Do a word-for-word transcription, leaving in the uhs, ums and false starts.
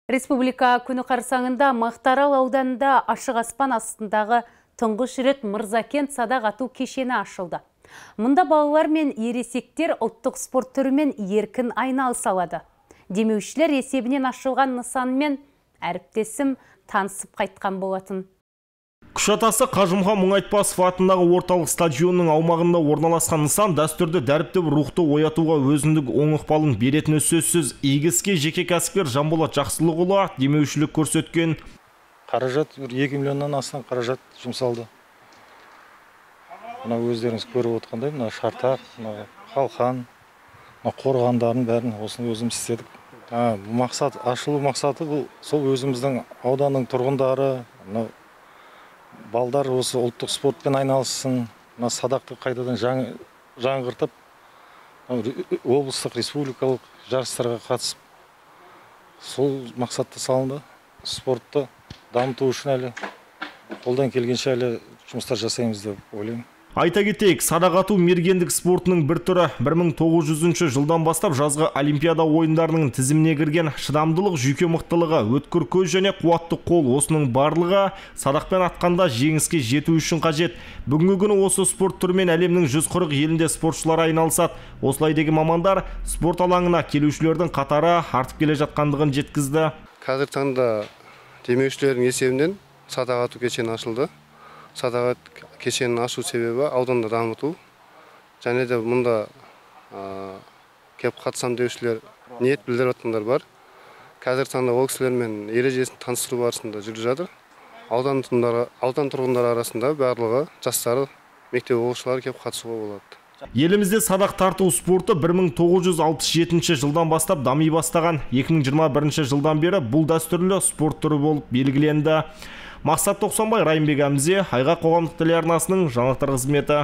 Республика күні қарсаңында Мақтаарал ауданында ашық аспан астындағы тұңғыш рет Мырзакент садақ ату кешені ашылды. Мұнда балалар мен ересектер ұлттық спорт түрімен еркін айналыса алады. Демеушілер есебінен ашылған нысанмен әріптесім танысып қайтқан болатын. Күшатасы Қажымхан Мұңайтпасов атындағы орталық стадионның аумағында орналасқан нысан дәстүрді дәріптеп рухты оятуға өзіндік оң ықпалын беретіні сөзсіз. Игі іске жеке кәсіпкер Жанболат Жақсылықұлы демеушілік көрсеткен. Қаражат екі миллионнан астам қаражат жұмсалды. Мына өздеріңіз көріп отқандай, мына шартақ, мына қалқан, мына қорғандарын бәрін осыны өзіміз істедік. Мақсат, ашылу мақсаты бұл сол өзіміздің ауданның тұрғындары, балдар осы ұлттық спортпен айналыссын, садақты қайтадан жаңғыртып, облыстық, республикалық жарыстарға қатысып, сол мақсатты салынды. Спортты дамыту үшін әлі қолдан келгенше әлі жұмыстар жасаймыз деп ойлаймын. Айта кетейік, садақ ату мергендік спортының бір түрі. бір мың тоғыз жүзінші жылдан бастап жазғы Олимпиада ойындарының тізіміне кірген шыдамдылық, жүйке мықтылығы, өткір көз және қуатты қол, осының барлығы садақпен атқанда жеңіске жету үшін қажет. Бүгінгі күні осы спорт түрімен әлемнің жүз қырық елінде спортшылар айналысады. Осылай деген мамандар спорт алаңына келушілердің қатары артып келе жатқандығын жеткізді. Қазір таңда демеушілердің есебінен садақ ату кешені ашылды. Садақ кешенін ашу себебі ауданда дамыту. Және де мұнда кеп қатысам деушілер ниет білдіріп жатқандар бар. Қазір таңда ол кісілермен ережесін таныстыру барысында жүріп жатыр. Аудан тұрғындары арасында барлығы жастары, мектеп оқушылары кеп қатысуға болады. Елімізде садақ тарту спорты бір мың тоғыз жүз алпыс жетінші жылдан бастап дами бастаған. екі мың жиырма бірінші жылдан бері бұл дәстүрлі спорт түрі болып белгіленді. Мақсат Тоқсанбай, Райымбек Әмзе, Айға қоғамдық телеарнасының жаңалықтар қызметі.